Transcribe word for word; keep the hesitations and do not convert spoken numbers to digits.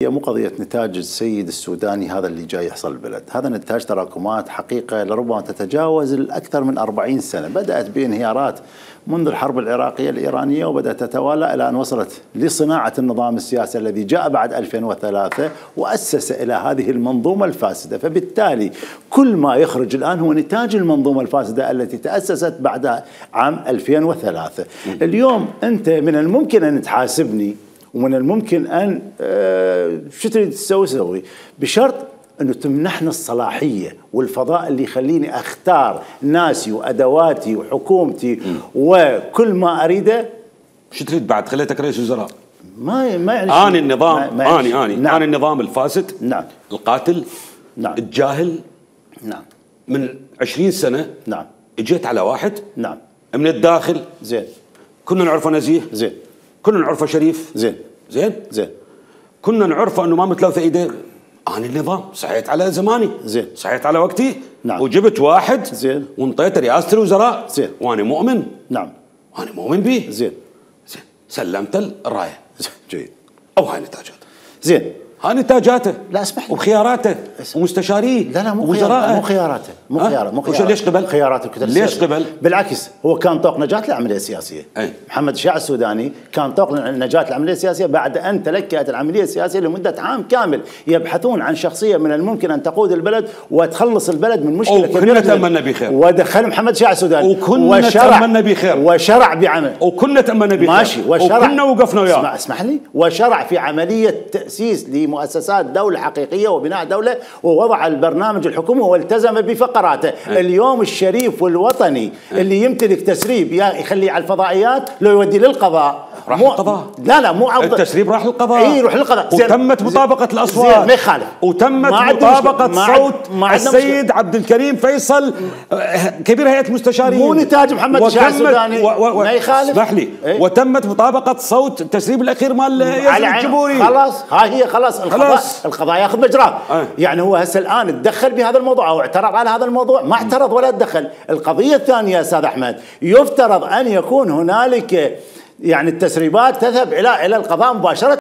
هي مو قضية نتاج السيد السوداني هذا اللي جاي يحصل البلد، هذا نتاج تراكمات حقيقة لربما تتجاوز الأكثر من أربعين سنة، بدأت بانهيارات منذ الحرب العراقية الإيرانية وبدأت تتوالى إلى أن وصلت لصناعة النظام السياسي الذي جاء بعد ألفين وثلاثة وأسس إلى هذه المنظومة الفاسدة. فبالتالي كل ما يخرج الآن هو نتاج المنظومة الفاسدة التي تأسست بعد عام ألفين وثلاثة. اليوم أنت من الممكن أن تحاسبني ومن الممكن أن أه شو تريد تسوي سوي بشرط أنه تمنحنا الصلاحية والفضاء اللي يخليني أختار ناسي وأدواتي وحكومتي م. وكل ما أريده. شو تريد بعد؟ خليتك رئيس وزراء. ما ما يعني آني النظام ما آني آني نعم. آني النظام الفاسد. نعم. القاتل. نعم. الجاهل. نعم. من عشرين سنة. نعم. اجيت على واحد. نعم. من الداخل. زين. كنا نعرفه نزيه. زين. كنا نعرفه شريف. زين. زين. زين. كنا نعرفه انه ما متلوثه ايديه. أنا النظام صحيت على زماني. زين. صحيت على وقتي. نعم. وجبت واحد. زين. وانطيته رئاسة الوزراء. زين. وانا مؤمن. نعم. وانا مؤمن به. زين. زين. سلمت الراية. زين. جيد. او هاي نتاجاته. زين. هاي نتاجاته. لا اسمح لي. وخياراته ومستشاريه. لا لا مو خياراته مو خياراته مو خياراته مو خياراته. ليش قبل؟ خياراته كثر. ليش قبل؟ بالعكس هو كان طوق نجاة العملية السياسية. أي. محمد الشيع السوداني كان طوق نجاة العملية السياسية بعد أن تلكأت العملية السياسية لمدة عام كامل يبحثون عن شخصية من الممكن أن تقود البلد وتخلص البلد من مشكلة كبيرة. وكنا تأملنا بخير. ودخل محمد الشيع السوداني. وكنا تأملنا بخير. وشرع بعمل. وكنا تأملنا بخير. ماشي. وشرع. وكنا وقفنا وياه. اسمح, اسمح لي. وشرع في عملية تأسيس لمؤسسات دولة حقيقية وبناء دولة ووضع البرنامج الحكومي والتزم بفقراته. أه. اليوم الشريف والوطني أه. اللي يمتلك تسريب يخليه على الفضائيات لو يودي للقضاء. راح القضاء. لا لا مو أفضل. التسريب راح للقضاء. اي يروح للقضاء. وتمت مطابقة الأصوات. ما يخالف. وتمت مطابقة صوت السيد عبد الكريم فيصل كبير هيئة المستشارين. مو نتاج محمد الشيع السوداني. و و و ما يخالف. اسمح لي. ايه؟ وتمت مطابقة صوت التسريب الأخير مال يزن الجبوري. خلاص هاي هي خلاص القضاء القضاء ياخذ مجراه. اه. يعني هو هسه الآن تدخل بهذا الموضوع أو اعترض على هذا الموضوع؟ ما اعترض ولا تدخل. القضية الثانية يا أستاذ أحمد يفترض أن يكون هنالك يعني التسريبات تذهب إلى إلى القضاء مباشرة.